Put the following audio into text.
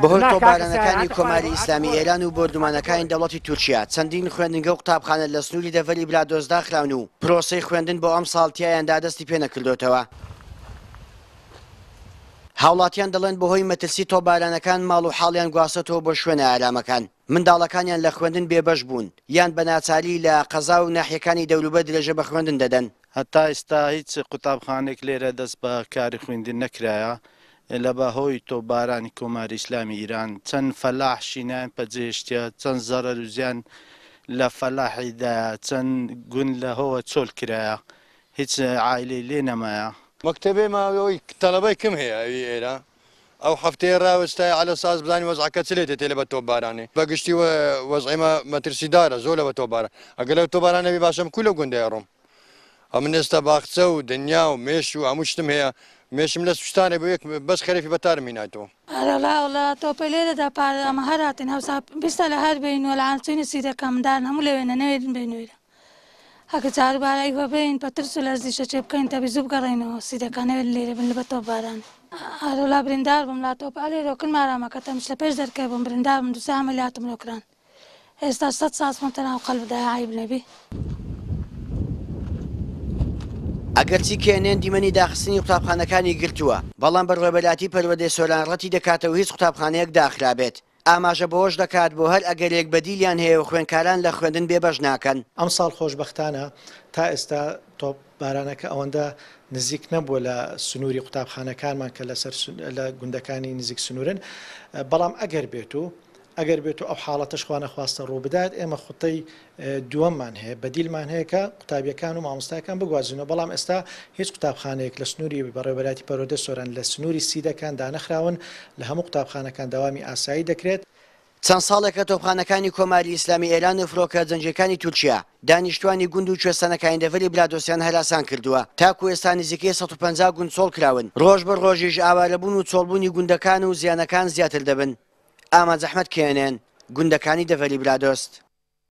بەهۆی تۆپبارانەکانی کۆماری ئیسلامی ئێران و بۆردومانەکانی دەوڵەتی تورکیا، چەندین خوێندنگە و قوتابخانە لە سنووری دەڤەری برادۆست داخراون و پرۆسەی خوێندن بۆ ئەمساڵ تیایاندا دەستی پێنەکردۆتەوە. هاوڵاتیان دەڵێن بەهۆی مەترسی تۆپبارانەکان ماڵ و حاڵیان گواستۆتەوە بۆ شوێنە ئارامەکان، منداڵەکانیان لە خوێندن بێبەش بوون یان بە ناچاری لە قەزا و ناحیەکانی دەوروبەر درێژە بە خوێندن دەدەن. هەتا ئیستا هیچ قوتابخانەیەک لێرە دەست بە کاری خویندن نەکرایە لە بە هۆی تۆپبارانی کۆماری ئیسلامی ئیران چەند فەلاح شینایان پەجێهێشتیە چەند زەرەر و زیان لە فەلاحی دایە چەند گوند لە هۆوە چۆل کرایە هیچ عایلەی لێ نەمایە. مەکتەبێ ما ئەوی تەلەبەی کم هەیە ئەوی ئێرە ئەو هەفتەیە راوەستایە عەلە ساز بزانین وەزعەکە چ لێ تێ لە بە تۆپبارانێ بە گشتی وەزعی مە مەترسیدارە زۆر لە بە تۆپباران ئەگەر لە تۆپباران نەبی باشە من کو لەو گوندەیە ڕۆم ئەمن ئێستا باخچە و دنیا و مێش و هەموو شتم هەیە مێشم لە سوستانێ بۆ یەک بەس خەرێفی بەتارم هینایتەوە. ئەرەڵا وەڵا تۆپەی لێرەدا پارە ئەمە هەر هاتین هەوسا بیستا لە هەر بین وەلا چینی سیدەکە مندارن هەموو لەوێنە نەوێرن بێنوێرە ئەگە جار بارە ئیوە بێین پە ترس و لەرزیشە چێ بکەین تەبی زوو بگەڕێینەوە سیدەکە نەوێرن لێرە بن لە تۆپ باران ئەرەڵا بریندار بووم لا تۆپ ئەلێرۆ کن مارامەکە تەمش لە پێش دەرکەی بووم بریندار بووم دوو سێ عەمەلیاتم لۆ کران ئێستا سەد ساز خۆم تەناو قەلب دایە عەیب نەبی. ئەگەرچی کێنێن دیمەنی داخستنی قوتابخانەکانی گرتووە، بەڵام بەڕێوەبەرایەتی پەروەردەی سۆران ڕەتی دەکاتەوە هیچ قوتابخانەیەک داخرابێت. ئاماژە بەوەش دەکات، بۆ هەر ئەگەرێک بەدیلیان هەیە و خوێندکاران لە خوێندن بێبەش ناکەن. ئەمساڵ خۆشبەختانە تا ئێستا تۆپ بارانەکە ئەوەندە نزیک نەبووە لە سنووری قوتابخانەکانمان کە لەسەر لە گوندەکانی نزیک سنوورن، بەڵام ئەگەر بێت و ئەگەر بێت و ئەو حاڵەتەش خوانەخواستە ڕووبدات ئێمە خوتەی دووەممان هەیە، بەدیلمان هەیە کە قوتابیەکان و مامۆستایەکان بگوازینەوە، بەڵام ئێستا هیچ قوتابخانەیەک لە سنووری بەڕێوەبەرایەتی پەروەردەی سۆران لە سنووری سیدەکان دانەخراون، لە هەموو قوتابخانەکان دەوامی ئاسایی دەکرێت. چەند ساڵێکە تۆپخانەکانی کۆماری ئیسلامی ئێران و فرۆکە جەنگییەکانی تورکیا دانیشتوانی گوند و کوێستانەکانی دەڤەری برادۆستیان هەراسان کردووە، تاکو ئێستا نزیکەی 150 گوند چۆڵ کراون، ڕۆژ بە ڕۆژیش ئاوارەبوون و چۆڵبوونی گوندەکان و زیانەکان زیاتر دەبن. ئامانج ئەحمەد، کێنێن، گوندەکانی دەڤەری برادۆست.